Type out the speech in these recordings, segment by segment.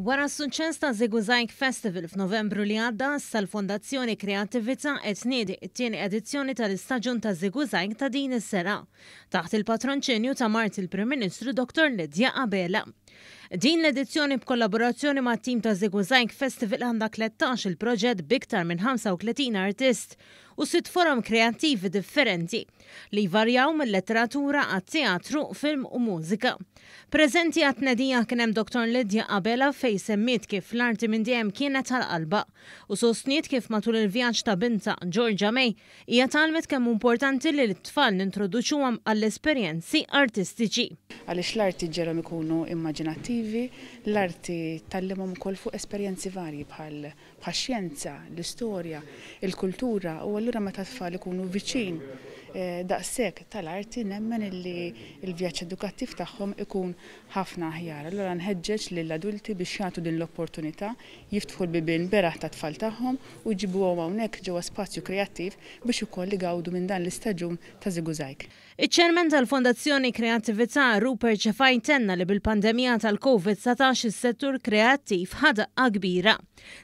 Wara s-suċċess ta' Żigużajg Festival f'Novembru li għadda, issa l-Fondazzjoni Kreattività qed tniedi t-tieni edizzjoni tal-istaġun ta' Żigużajg ta' din is-sena, taħt il-patronċinju ta' mart il-Prim Ministru Dottor Lydia Abela. Din l-edizzjoni b'kollaborazzjoni mat-tim ta' Żigużajg Festival għandha 13 il-proġett b'iktar minn 35 artist u sitt forom kreattivi differenti li jvarjaw mil-letteratura għat-teatru, film u mużika. Preżenti għat-tnedija kien hemm Dottor Lydia Abela fejn semmiet kif l-arti minn dejjem kienet għal qalbha u sostniet kif matul il-vjaġġ ta' bintha, Georgia May, hija tgħallmet kemm hu importanti li lit-tfal nintroduċuhom għall-esperjenzi artistiċi. Għaliex l-arti ġġegħelhom ikunu immaġinattivi, l-arti tgħallimhom ukoll fuq esperjenzi varji bħal bħax-xjenza, l-istorja, il-kultura u allura meta t-tfal ikunu viċin daqshekk tal-arti nemmen illi l-vjaġġ edukattiv tagħhom ikun ħafna aħjar. Allura nħeġġeġ lill-adulti biex jagħtu din l-opportunità, jiftħu l-bibien beraħ tat-tfal tagħhom u jġibuhom hawnhekk ġewwa spazju kreattiv biex ukoll igawdu minn dan l-istaġun ta' Żigużajg. Iċ-Chairman tal-Fondazzjoni Kreattività, Rupert Cefai tenna li bil-pandemija tal-Covid 19 is-settur kreattiv ħa daqqa kbira.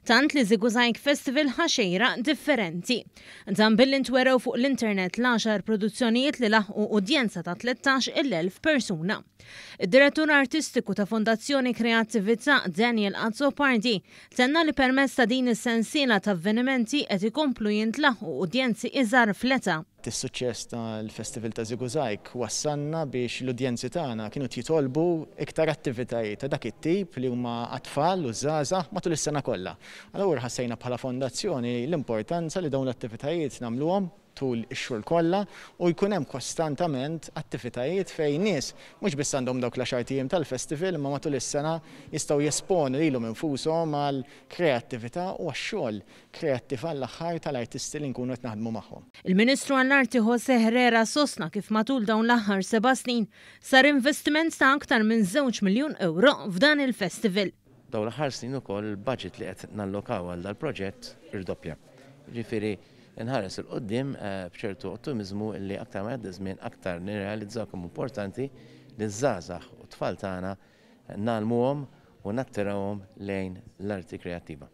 Tant li Żigużajg Festival ħa xejra differenti. Dan billi ntwerew fuq l-internet l-għaxar produzzjonijiet li laħqu udjenza ta' 13,000 persuna. Id-Direttur Artistiku ta' Fondazzjoni Kreattività, Daniel Azzopardi, tenna li permezz ta' din is-sensiela ta' avvenimenti qed ikomplu jintlaħqu udjenzi iżgħar fl-età. Is-suċċess tal-Festival ta' Żigużajg wassalna biex l-udjenzi tagħna kienu qed jitolbu iktar attivitajiet ta' dak it-tip li huma għat-tfal u ż-żgħażagħ matul is-sena kollha. Allura ħassejna bħala fondazzjoni l-importanza li dawn l-attivitajiet nagħmluhom tul ix-xhur kollha u jkun hemm kostantament attivitajiet fejn nies mhux biss għandhom dawk l-għaxart ijiem tal-festival imma matul is-sena jistgħu jesponu lilhom infushom għall-kreattività u għax-xogħol kreattiv għall-aħħar tal-artisti li nkunu qed naħdmu magħhom. Il-Ministru għall-Arti José Herrera sostna kif matul dawn l-aħħar seba' snin sar investiment ta' aktar minn żewġ miljun ewro f'dan il-festival. Dawn l-aħħar snin ukoll il-budget li qed nallokaw għal dal-proġett irdoppja. Jiġifieri nħares 'il quddiem b'ċertu ottimiżmu li aktar ma jgħaddi żmien aktar nirrealizzaw kemm hu importanti li ż-żgħażagħ u t-tfal tagħna ngħallmuhom u nattirawhom lejn l-arti kreattiva.